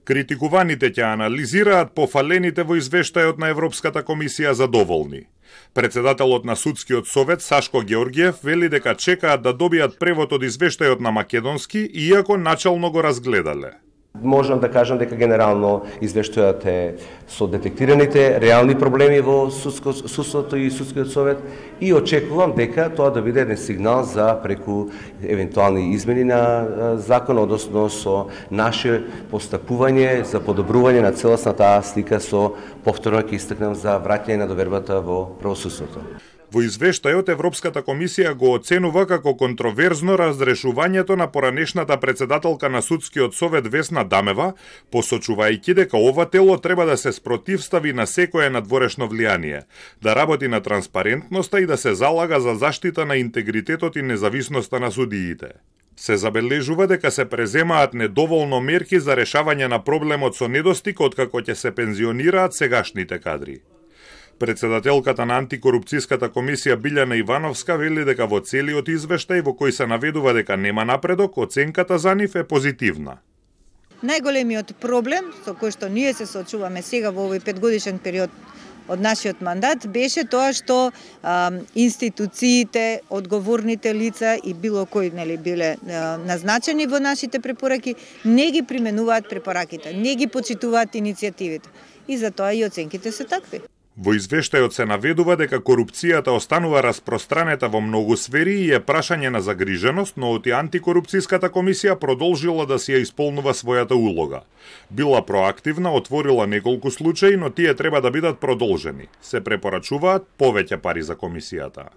Критикуваните ќе анализираат пофалените во извештајот на Европската комисија задоволни. Председателот на Судскиот совет Сашко Георгиев вели дека чекаат да добијат превод од извештајот на македонски, иако начално го разгледале. Можам да кажам дека генерално извештајот е со детектираните реални проблеми во судството и Судскиот совет и очекувам дека тоа да биде еден сигнал за преку евентуални измени на закон, односно со наше постапување за подобрување на целосната слика со повторно ќе истакнам за враќање на довербата во правосудството. Во извештајот Европската комисија го оценува како контроверзно разрешувањето на поранешната председателка на Судскиот совет Весна Дамева, посочувајќи дека ова тело треба да се спротивстави на секое надворешно влијание, да работи на транспарентноста и да се залага за заштита на интегритетот и независноста на судиите. Се забележува дека се преземаат недоволно мерки за решавање на проблемот со недостиг откако ќе се пензионираат сегашните кадри. Председателката на антикорупцијската комисија Билјана Ивановска вели дека во целиот извештај во кој се наведува дека нема напредок, оценката за нив е позитивна. Најголемиот проблем со кој што ние се соочуваме сега во овој 5-годишен период од нашиот мандат беше тоа што институциите, одговорните лица и било кои биле назначени во нашите препораки не ги применуваат препораките, не ги почитуваат иницијативите и затоа и оценките се такви. Во извештајот се наведува дека корупцијата останува распространета во многу сфери и е прашање на загриженост, но оти антикорупцијската комисија продолжила да си ја исполнува својата улога. Била проактивна, отворила неколку случаи, но тие треба да бидат продолжени. Се препорачуваат повеќе пари за комисијата.